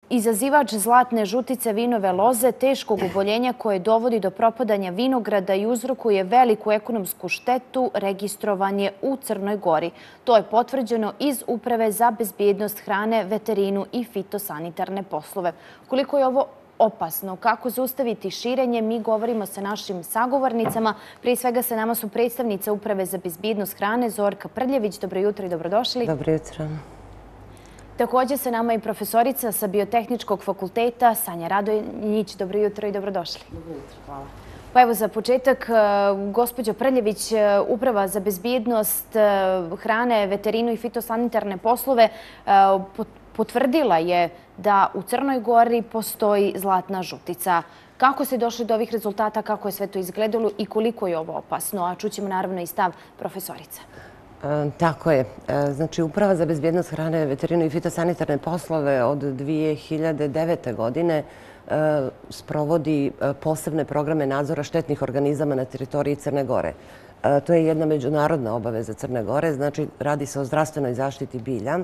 izazivač zlatne žutice vinove loze, teškog oboljenja koje dovodi do propadanja vinograda i uzrokuje veliku ekonomsku štetu, registrovan je u Crnoj Gori. To je potvrđeno iz Uprave za bezbjednost hrane, veterinu i fitosanitarne poslove. Koliko je ovo opasno, kako zaustaviti širenje, mi govorimo sa našim sagovornicama. Prije svega sa nama su predstavnice Uprave za bezbjednost hrane, Zorka Prljević. Dobro jutro i dobrodošli. Dobro jutro. Također sa nama i profesorica sa Biotehničkog fakulteta, Sanja Radonjić. Dobro jutro i dobrodošli. Dobro jutro, hvala. Pa evo za početak, gospođo Prljević, Uprava za bezbjednost hrane, veterinu i fitosanitarne poslove potvrdila je da u Crnoj Gori postoji zlatna žutica. Kako ste došli do ovih rezultata, kako je sve to izgledalo i koliko je ovo opasno? A čućemo naravno i stav profesorica. Tako je. Znači, Uprava za bezbjednost hrane, veterinu i fitosanitarne poslove od 2009. godine sprovodi posebne programe nadzora štetnih organizama na teritoriji Crne Gore. To je jedna međunarodna obaveza Crne Gore, znači radi se o zdravstvenoj zaštiti bilja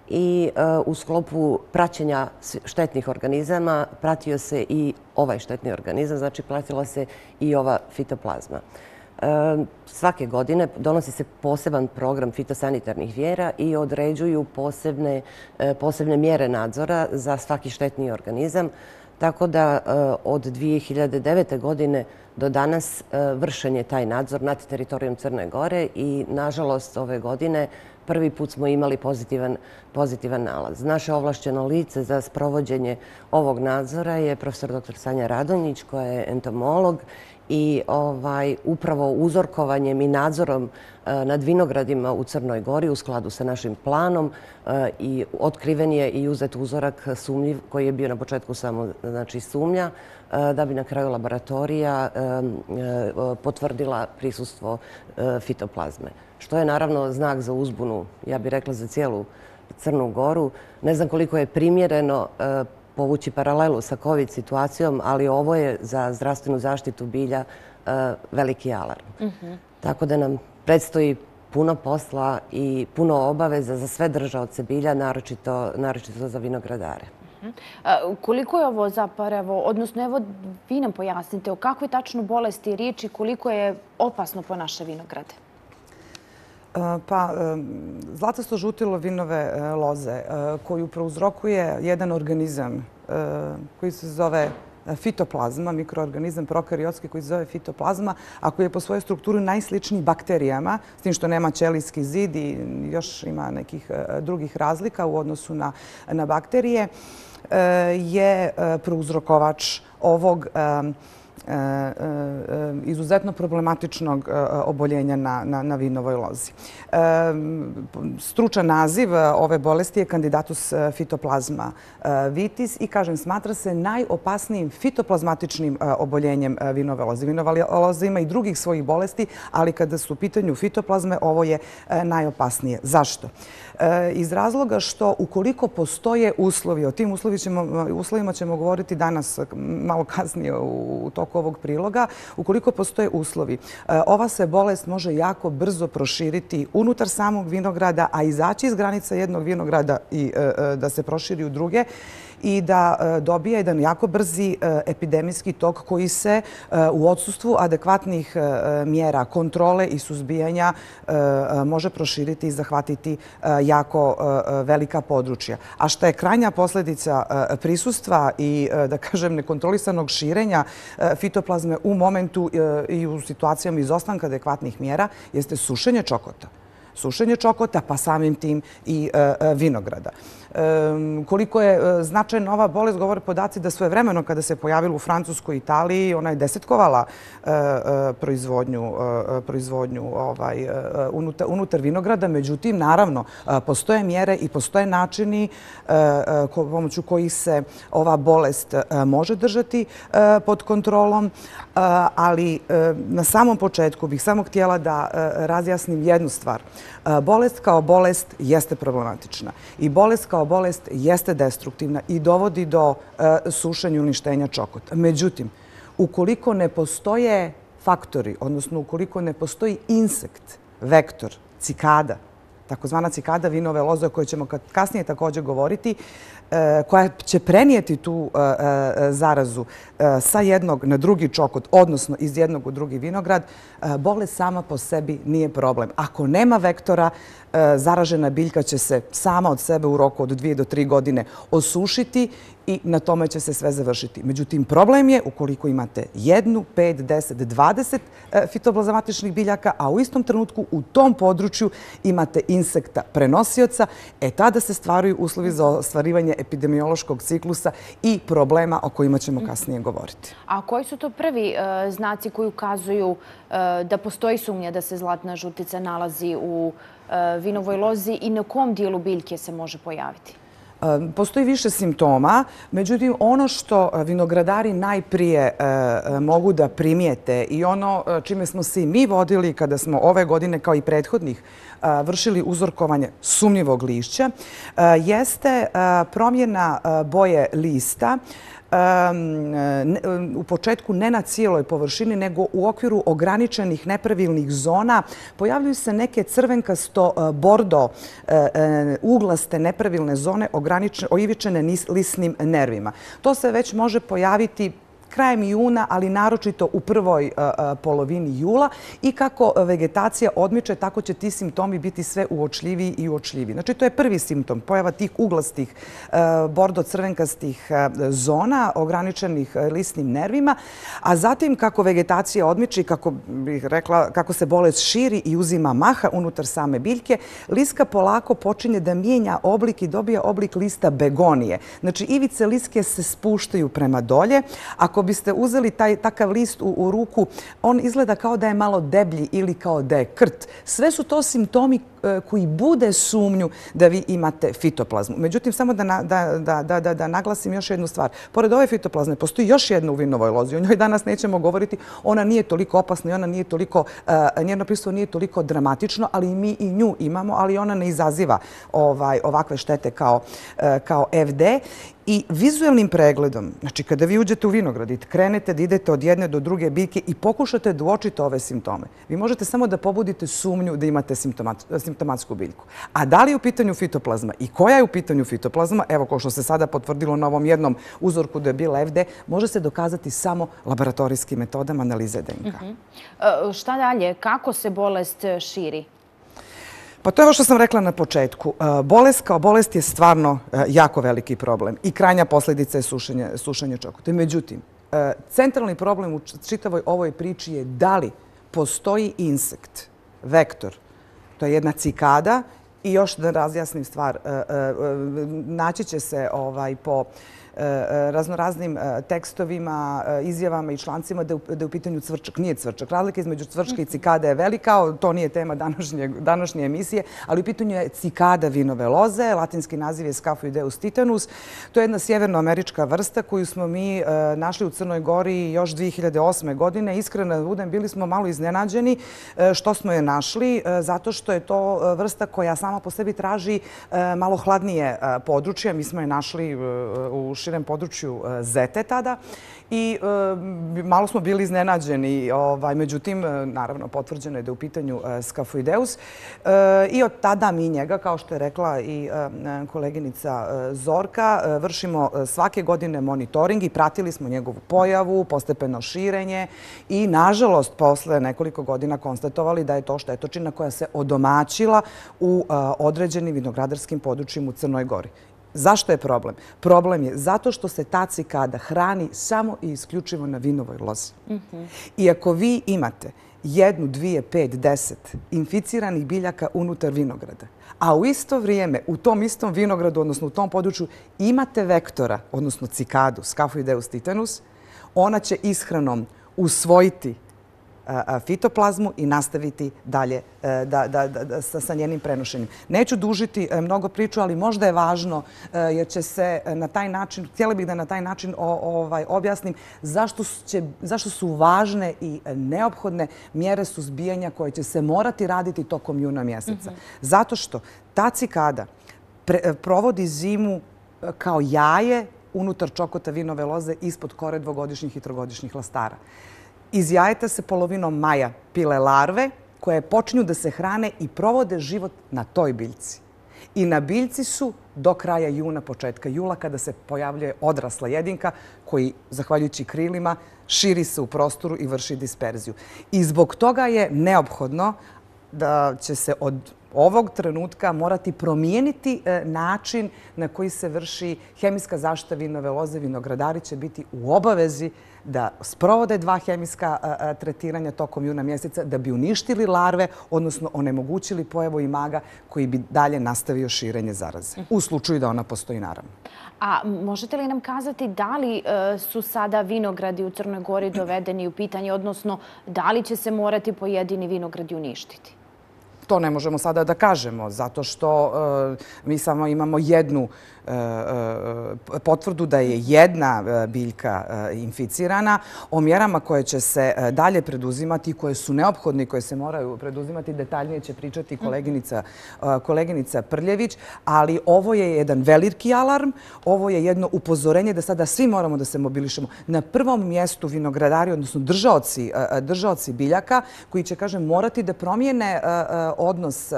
i u sklopu praćenja štetnih organizama pratio se i ovaj štetni organizam, znači pratila se i ova fitoplazma. Svake godine donosi se poseban program fitosanitarnih mjera i određuju posebne mjere nadzora za svaki štetni organizam. Tako da od 2009. godine do danas vršen je taj nadzor nad teritorijom Crne Gore i nažalost ove godine prvi put smo imali pozitivan nalaz. Naše ovlašćeno lice za sprovođenje ovog nadzora je profesor dr. Sanja Radonjić, koja je entomolog i upravo uzorkovanjem i nadzorom nad vinogradima u Crnoj Gori u skladu sa našim planom i otkriven je i uzet uzorak sumnjiv koji je bio na početku samo sumnja da bi na kraju laboratorija potvrdila prisustvo fitoplazme. Što je naravno znak za uzbunu, ja bih rekla, za cijelu Crnu Goru. Ne znam koliko je primjereno povući paralelu sa COVID situacijom, ali ovo je za zdravstvenu zaštitu bilja veliki alarm. Tako da nam predstoji puno posla i puno obaveza za sve držaoce bilja, naročito za vinogradare. Koliko je ovo zapravo, odnosno evo vi nam pojasnite o kakvoj tačno bolesti je riječ i koliko je opasno po naše vinograde? Pa, zlatasto žutilo vinove loze koju prouzrokuje jedan organizam koji se zove fitoplazma, mikroorganizam prokariotski koji se zove fitoplazma, a koji je po svojoj strukturi najsličniji bakterijama, s tim što nema ćelijski zid i još ima nekih drugih razlika u odnosu na bakterije, je prouzrokovač ovog izuzetno problematičnog oboljenja na vinovoj lozi. Stručan naziv ove bolesti je Candidatus fitoplazma vitis i, kažem, smatra se najopasnijim fitoplazmatičnim oboljenjem vinove loze. Vinova loza ima i drugih svojih bolesti, ali kada su u pitanju fitoplazme, ovo je najopasnije. Zašto? Iz razloga što ukoliko postoje uslovi, o tim uslovima ćemo govoriti danas malo kasnije u toku ovog priloga, ukoliko postoje uslovi, ova se bolest može jako brzo proširiti unutar samog vinograda, a izaći iz granica jednog vinograda i da se proširi u druge i da dobije jedan jako brzi epidemijski tok koji se u odsustvu adekvatnih mjera kontrole i suzbijanja može proširiti i zahvatiti jako velika područja. A što je krajnja posljedica prisustva i, da kažem, nekontrolisanog širenja fitoplazme u momentu i u situacijama izostanka adekvatnih mjera jeste sušenje čokota. Sušenje čokota, pa samim tim i vinograda. Koliko je značajna ova bolest, govore podaci da svojevremeno kada se pojavila u Francuskoj i Italiji, ona je desetkovala proizvodnju unutar vinograda. Međutim, naravno, postoje mjere i postoje načini pomoću kojih se ova bolest može držati pod kontrolom, ali na samom početku bih samo htjela da razjasnim jednu stvar. Bolest kao bolest jeste problematična i bolest kao bolest jeste destruktivna i dovodi do sušenja i uništenja čokota. Međutim, ukoliko ne postoje faktori, odnosno ukoliko ne postoji insekt, vektor, cikada, takozvana cikada vinove loze o kojoj ćemo kasnije također govoriti, koja će prenijeti tu zarazu sa jednog na drugi čokot, odnosno iz jednog u drugi vinograd, bolest sama po sebi nije problem. Ako nema vektora, zaražena biljka će se sama od sebe u roku od 2 do 3 godine osušiti i na tome će se sve završiti. Međutim, problem je ukoliko imate 1, 5, 10, 20 fitoplazmatičnih biljaka, a u istom trenutku u tom području imate insekta prenosioca, tada se stvaraju uslovi za ostvarivanje epidemiološkog ciklusa i problema o kojima ćemo kasnije govoriti. A koji su to prvi znaci koji ukazuju da postoji sumnja da se zlatna žutica nalazi u vinovoj lozi i na kom dijelu biljke se može pojaviti? Postoji više simptoma, međutim ono što vinogradari najprije mogu da primijete i ono čime smo se i mi vodili kada smo ove godine kao i prethodnih vršili uzorkovanje sumnjivog lišća, jeste promjena boje lista, u početku ne na cijeloj površini, nego u okviru ograničenih nepravilnih zona. Pojavljuju se neke crvenkasto-bordo uglaste nepravilne zone oivičene lisnim nervima. To se već može pojaviti krajem juna, ali naročito u prvoj polovini jula i kako vegetacija odmiče, tako će ti simptomi biti sve uočljiviji i uočljiviji. Znači, to je prvi simptom, pojava tih uglastih bordo-crvenkastih zona ograničenih lisnim nervima, a zatim kako vegetacija odmiče i kako bih rekla, kako se bolest širi i uzima maha unutar same biljke, liska polako počinje da mijenja oblik i dobija oblik lista begonije. Znači, ivice liske se spuštaju prema dolje. Ako biste uzeli takav list u ruku, on izgleda kao da je malo deblji ili kao da je krt. Sve su to simptomi koji bude sumnju da vi imate fitoplazmu. Međutim, samo da naglasim još jednu stvar. Pored ove fitoplazme postoji još jedna u vinovoj lozi. O njoj danas nećemo govoriti. Ona nije toliko opasna i ona nije toliko, njeno prisustvo nije toliko dramatično, ali mi i nju imamo, ali ona ne izaziva ovakve štete kao FD. I vizualnim pregledom, znači kada vi uđete u vinograd i krenete da idete od jedne do druge biljke i pokušate da uočite ove simptome, vi možete samo da pobudite sumnju da imate simptomatsku biljku. A da li je u pitanju fitoplazma i koja je u pitanju fitoplazma, evo kao što se sada potvrdilo na ovom jednom uzorku da je bila FD, može se dokazati samo laboratorijskim metodama analize DNK. Šta dalje? Kako se bolest širi? Pa to je ovo što sam rekla na početku. Bolest kao bolest je stvarno jako veliki problem i krajnja posljedica je sušenje čokota. Međutim, centralni problem u čitavoj ovoj priči je da li postoji insekt, vektor, to je jedna cikada i još da razjasnim stvar, naći će se po raznoraznim tekstovima, izjavama i člancima da je u pitanju cvrčak. Nije cvrčak. Razlika između cvrčka i cikade je velika. To nije tema današnje emisije, ali u pitanju je cikada vinove loze. Latinski naziv je Scaphoideus titanus. To je jedna sjevernoamerička vrsta koju smo mi našli u Crnoj Gori još 2008. godine. Iskreno da budem, bili smo malo iznenađeni što smo je našli, zato što je to vrsta koja sama po sebi traži malo hladnije područje. Mi smo je našli u širem području Zete tada i malo smo bili iznenađeni. Međutim, naravno, potvrđeno je da je u pitanju Scaphoideus i od tada mi njega, kao što je rekla i koleginica Zorka, vršimo svake godine monitoring i pratili smo njegovu pojavu, postepeno širenje i, nažalost, posle nekoliko godina konstatovali da je to štetočina koja se odomaćila u određenim vinogradarskim područjima u Crnoj Gori. Zašto je problem? Problem je zato što se ta cikada hrani samo i isključivo na vinovoj lozi. I ako vi imate 1, 2, 5, 10 inficiranih biljaka unutar vinograda, a u isto vrijeme u tom istom vinogradu, odnosno u tom području, imate vektora, odnosno cikadu, Scaphoideus titanus, ona će ishranom usvojiti fitoplazmu i nastaviti dalje sa njenim prenošenjem. Neću dužiti mnogo priču, ali možda je važno jer će se na taj način, htjela bih da na taj način objasnim zašto su važne i neophodne mjere suzbijanja koje će se morati raditi tokom juna mjeseca. Zato što ta cikada provodi zimu kao jaje unutar čokota vinove loze ispod kore dvogodišnjih i trogodišnjih lastara. Iz jajeta se polovinom maja pile larve koje počinju da se hrane i provode život na toj biljci. I na biljci su do kraja juna, početka jula, kada se pojavljuje odrasla jedinka koji, zahvaljujući krilima, širi se u prostoru i vrši disperziju. I zbog toga je neophodno da će se od ovog trenutka morati promijeniti način na koji se vrši hemijska zaštita vinove loze. Vinogradari će biti u obavezi da sprovode 2 hemijska tretiranja tokom juna mjeseca da bi uništili larve, odnosno onemogućili pojavu imaga koji bi dalje nastavio širenje zaraze. U slučaju da ona postoji, naravno. A možete li nam kazati da li su sada vinogradi u Crnoj Gori dovedeni u pitanje, odnosno da li će se morati pojedini vinogradi uništiti? To ne možemo sada da kažemo, zato što mi samo imamo jednu potvrdu da je jedna biljka inficirana. O mjerama koje će se dalje preduzimati, koje su neophodne i koje se moraju preduzimati, detaljnije će pričati koleginica Prljević, ali ovo je jedan veliki alarm, ovo je jedno upozorenje da sada svi moramo da se mobilišemo. Na prvom mjestu vinogradari, odnosno držaoci biljaka, koji će, kažem, morati da promijene odnos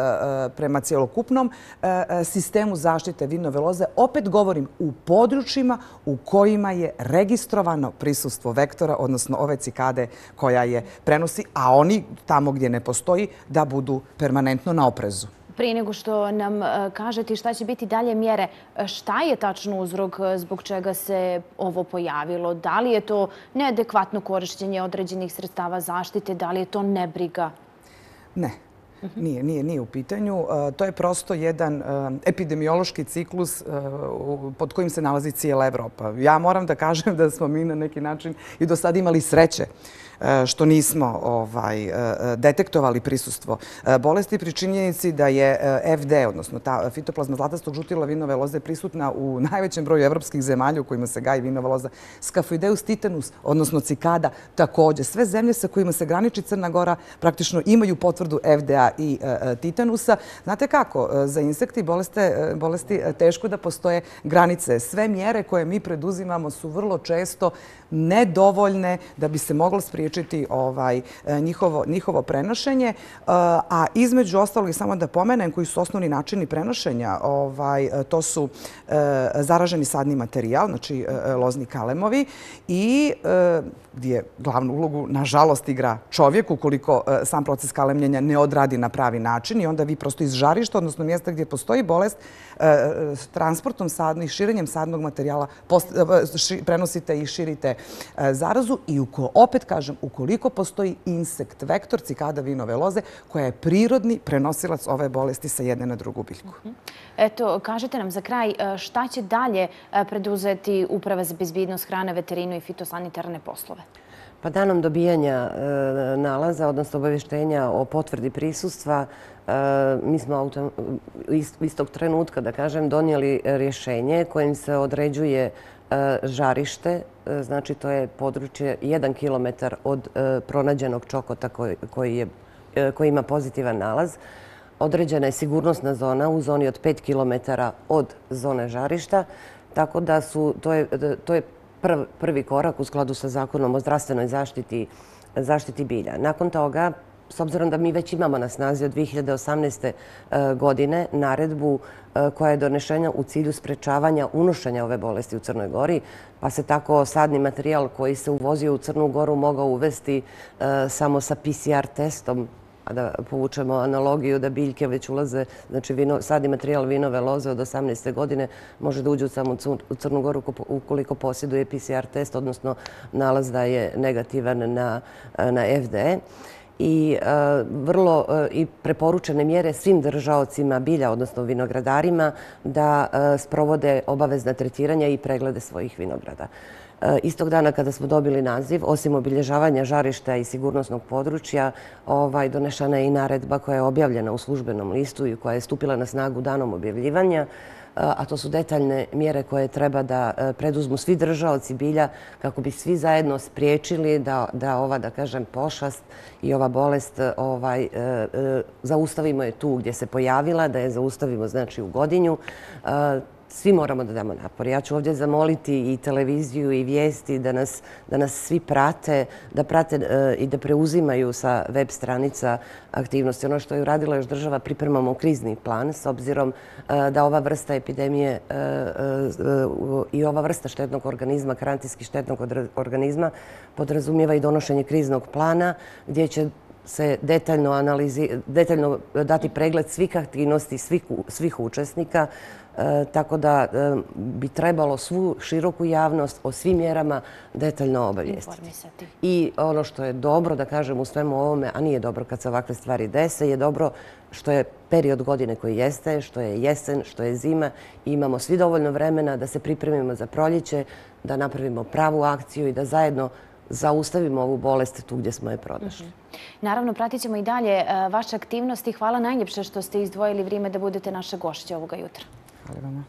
prema cjelokupnom sistemu zaštite vinove loze. Opet govorim, u područjima u kojima je registrovano prisustvo vektora, odnosno ove cikade koja je prenosi, a oni tamo gdje ne postoji da budu permanentno na oprezu. Prije nego što nam kažete šta će biti dalje mjere, šta je tačno uzrok zbog čega se ovo pojavilo? Da li je to neadekvatno korištenje određenih sredstava zaštite? Da li je to nebriga? Ne. Nije u pitanju. To je prosto jedan epidemiološki ciklus pod kojim se nalazi cijela Evropa. Ja moram da kažem da smo mi na neki način i do sada imali sreće što nismo detektovali prisustvo bolesti pri činjenici da je FD, odnosno ta fitoplazma zlatastog žutila vinove loze, prisutna u najvećem broju evropskih zemalja u kojima se gaji vinova loza. Scafoideus titanus, odnosno cikada, također. Sve zemlje sa kojima se graniči Crna Gora praktično imaju potvrdu FDA i titanusa. Znate kako, za insekti bolesti teško da postoje granice. Sve mjere koje mi preduzimamo su vrlo često nedovoljne da bi se moglo spriječiti njihovo prenošenje. A između ostalog, i samo da pomenem koji su osnovni načini prenošenja, to su zaraženi sadni materijal, znači lozni kalemovi, i gdje glavnu ulogu, nažalost, igra čovjek ukoliko sam proces kalemljenja ne odradi na pravi način, i onda vi prosto iz žarišta, odnosno mjesta gdje postoji bolest, transportom sadnog i širenjem sadnog materijala prenosite i širite zarazu. I opet kažem, ukoliko postoji insekt vektor, cikada vinove loze, koja je prirodni prenosilac ove bolesti sa jedne na drugu biljku. Eto, kažete nam za kraj šta će dalje preduzeti Uprava za bezbjednost hrane, veterinu i fitosanitarne poslove? Pa danom dobijanja nalaza, odnosno obavještenja o potvrdi prisustva, mi smo istog trenutka, da kažem, donijeli rješenje kojim se određuje žarište, znači to je područje 1 kilometar od pronađenog čokota koji ima pozitivan nalaz. Određena je sigurnosna zona u zoni od 5 kilometara od zone žarišta, tako da to je prvi korak u skladu sa Zakonom o zdravstvenoj zaštiti bilja. Nakon toga, s obzirom da mi već imamo na snazi od 2018. godine naredbu koja je donešena u cilju sprečavanja unošenja ove bolesti u Crnoj Gori, pa se tako sadni materijal koji se uvozio u Crnu Goru mogao uvesti samo sa PCR testom, a da povučemo analogiju da biljke već ulaze, znači sadni materijal vinove loze od 18. godine može da uđe samo u Crnu Goru ukoliko posjeduje PCR test, odnosno nalaz da je negativan na FD. I vrlo i preporučene mjere svim držaocima bilja, odnosno vinogradarima, da sprovode obavezna tretiranja i preglede svojih vinograda. Istog dana kada smo dobili naziv, osim obilježavanja žarišta i sigurnosnog područja, donešena je i naredba koja je objavljena u službenom listu i koja je stupila na snagu danom objavljivanja, a to su detaljne mjere koje treba da preduzmu svi držaoci bilja kako bi svi zajedno spriječili da ova, da kažem, pošast i ova bolest zaustavimo je tu gdje se pojavila, da je zaustavimo, znači, u Godinju. svi moramo da damo napor. Ja ću ovdje zamoliti i televiziju i vijesti da nas svi prate, da prate i da preuzimaju sa web stranica aktivnosti. Ono što je uradila još država, pripremamo krizni plan s obzirom da ova vrsta epidemije i ova vrsta štetnog organizma, karantinski štetnog organizma, podrazumijeva i donošenje kriznog plana gdje će se detaljno dati pregled svih aktivnosti, svih učesnika, tako da bi trebalo svu široku javnost o svim mjerama detaljno obavijestiti. I ono što je dobro da kažem u svemu ovome, a nije dobro kad se ovakve stvari dese, je dobro što je period godine koji jeste, što je jesen, što je zima i imamo svi dovoljno vremena da se pripremimo za proljeće, da napravimo pravu akciju i da zajedno zaustavimo ovu bolest tu gdje smo je pronašli. Naravno, pratit ćemo i dalje vaše aktivnosti. Hvala najljepše što ste izdvojili vrijeme da budete naše gošće ovoga jutra. Hvala vama.